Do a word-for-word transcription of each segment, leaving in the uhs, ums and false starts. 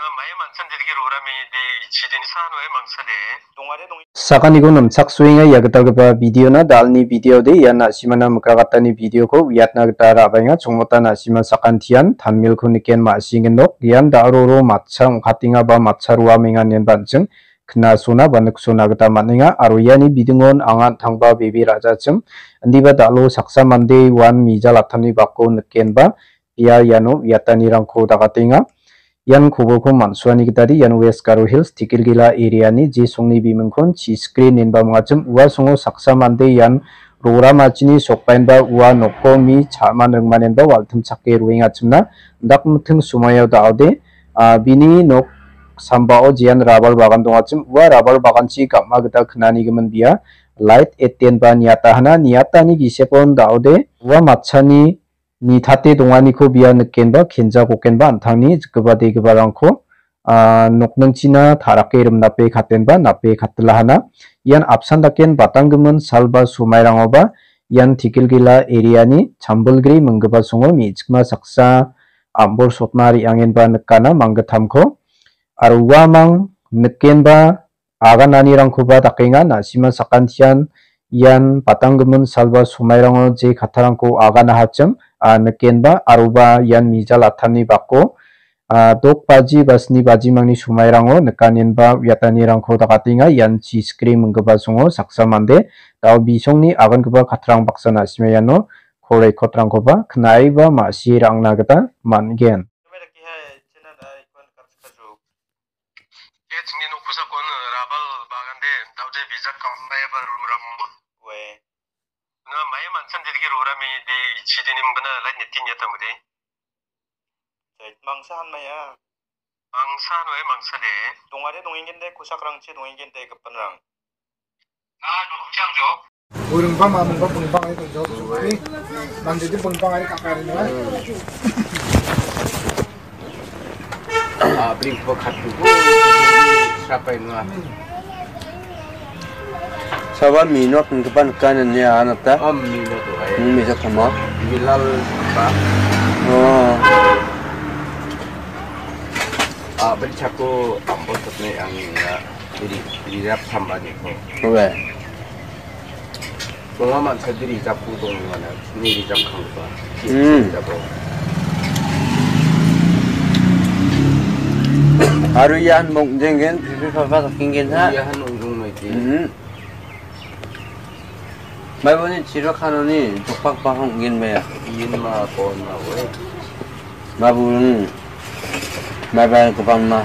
Maia mansan dedigi rorame de ichidini sano e mangsade. Dongare dong. Sakaniko nimchaksoenga ia gitalgipa videona, dalni videode ian na·simana mikrakatani videoko uiatna gita ra·baenga. Chongmota na·sima sakantian tanmilko niken ma·singindok. Ian da·roro matcha ong·katenga ba matcha roamenga ineba an·ching knasona ba niksona gita man·enga. Aro iani bidingon anga an·tangba bebe ra·jachim, indiba da·lo saksa mande uan mijal atani bako nikenba ia iano uiatanirangko dakatenga. Ian kobolko man·suani gitade ian West Garo Hills Tikilgila area-ni jisongni bimingkon chiskri inenba mingachim. Ua songo saksa mande ian roramachini sokbaenba ua nokko mi cha·man ringmanenba waltimchake roengachimna dakmiting somoio da·ode, ah, bini nok sambao jean rabal bagan dongachim. Ua rabal baganchi gam·a gita knanigimin bia light etenba niatahana, niatani gisepon da·ode ua matchani nitate donganiko bia nikenba kenja gokenba an·tangni jikgipa degiparangko, ah, nokningchina ta·rake rimnape katenba nape katilahana. Ian apsan daken batanggimin salba somairangoba ian Tikilgila area-ni Chambilgri minggipa songo me·chikma saksa am·bor sotna re·angenba nikana manggittamko. Aro uamang nikenba agananirangkoba dakenga. Na·sima sakantian ian batanggimin salba somairango je kattarangko aganahachim, ah, nikenba aroba ian mijal atani bako, ah, dok baji ba sni bajimangni somairango nikanenba uiatanirangko dakatenga. Ian chiskri minggipa songo saksa mande dao bisongni agangipa kattarang baksa na·sima iano kol rekotrangkoba knaiba ma·sie ra·angna gita man·gen. Ia chingni nok kosakon rabal bagan de, daode bijak kam maya ba roram. Ue. Na maya mansan dedigi rorame de ichidini mingana light netin ya tamde. Jait mangsa han maya. Mangsa han maya mangsa de. Dongare dongengende kosakrangchi dongengende gipinrang. Buringba mamungba bungbangai kunjok sukri. Mandidi bungbangai kakaringa. Ah, bringba katubu. Siapa ini? Sabar minok ngepan kan ni anata. Om minok tu ai. Hmm, bisa sama. Bilal ba. Oh. Ah, beri chaku ampun tetne yang ya. Jadi, jadi rap sama ni ko. Oke. Donga mancha diri japu dongmana, ni rijap kangba. Hmm. Japu. Aru ian mong jenggen, pipi papa saking gen ha. Iya han unjung mai ti. Hmm. Mai boni chiro kanoni jokpak bahong gen maya. Iyin ma kon ma we. Ma burung. Mai bai kebang ma.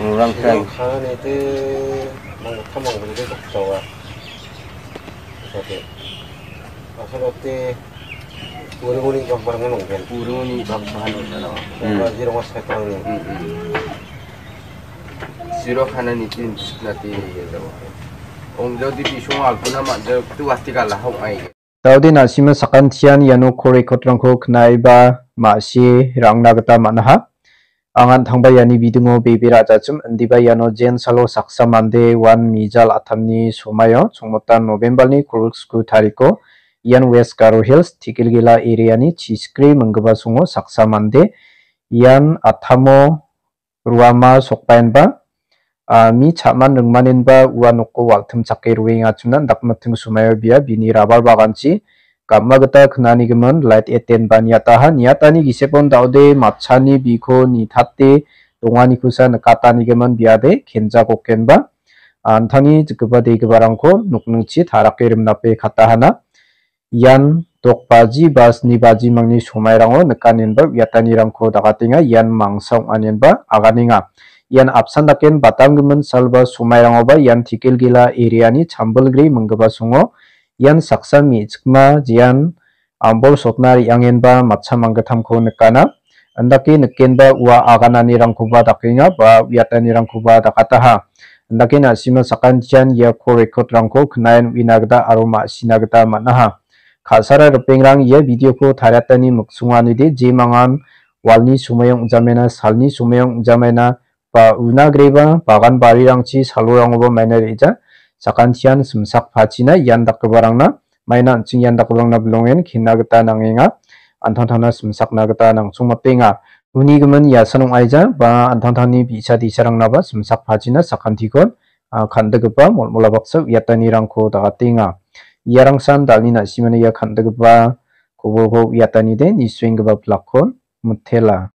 Orang kai. Chiro kanoni ti mang kamang beli doktawa. Oke. Asal oke. Urunguni bang barang nong kan. Urunguni bang bahan nong kan. Hmm. Bang jiro mas kata ni. Hmm, hmm. Siro kana ni tin na ti ni ya jawa. Ong jodi bisong aguna ma jodi tu asti kala hong ai. Daode na·sima sakantian iano kol rekotrangko knaiba ma·sie ra·angna gita man·aha. Angan tangba iani bidingo bebe ra·jachim, indiba iano jensalo saksa mande uan mijal atamni somaio, chongmotan November-ni kolgriksku tariko, ian West Garo Hills, Tikilgila area-ni chiskri minggipa songo saksa mande ian atamo ruama sokbaenba, ah, mi cha·man ringmanenba ua noko waltimchake roengachimna dakmiting somaio bia bini rabal baganchi gam·a gita knanigimin light etenba niataha. Niatani gisepon daode matchani biko nitate donganikosa nikatanigimin biade kenja gokenba, antangni jikgipa degiparangko nokningchi tarake rimnape katahana. Ian dok baji ba sni bajimangni somairango nikanenba uiatanirangko dakatenga. Ian mangsa ong·anenba aganenga. Ian apsan daken batanggimin salba somairangoba ian Tikilgila area-ni Chambilgri minggipa songo ian saksa me·chikma jean ambol sotna re·angenba matcha manggittamko nikana. Andake nikenba ua agananirangkoba dakenga ba uiatanirangkoba dakataha. Andake na·sima sakantian ia kol rekotrangko knaen uina gita aro ma·sina gita man·aha. Ka·sara ripengrang ia videoko tariatani miksonganide jemangan walni somoion ong·jamaina, salni somoion ong·jamaina, ba una agreba bagan barirangchi salorangoba maina re·ja. Sakantian simsak pachina ian dakgiparangna maina an·ching ian dakgiparangna bilongen kena gita nangenga. Antangtangna simsakna gita nangchongmatenga. Uni gimin iasan ong·aija ba an·tangtangni bi·sa disarangnaba simsak pachina sakantikon, ah, kan·dikgipa molmola baksa uiatanirangko dagatenga. Iarangsan dalni na·simana ia kan·dikgipa kobolko uiatanide nisuenggipa blakkon mitela.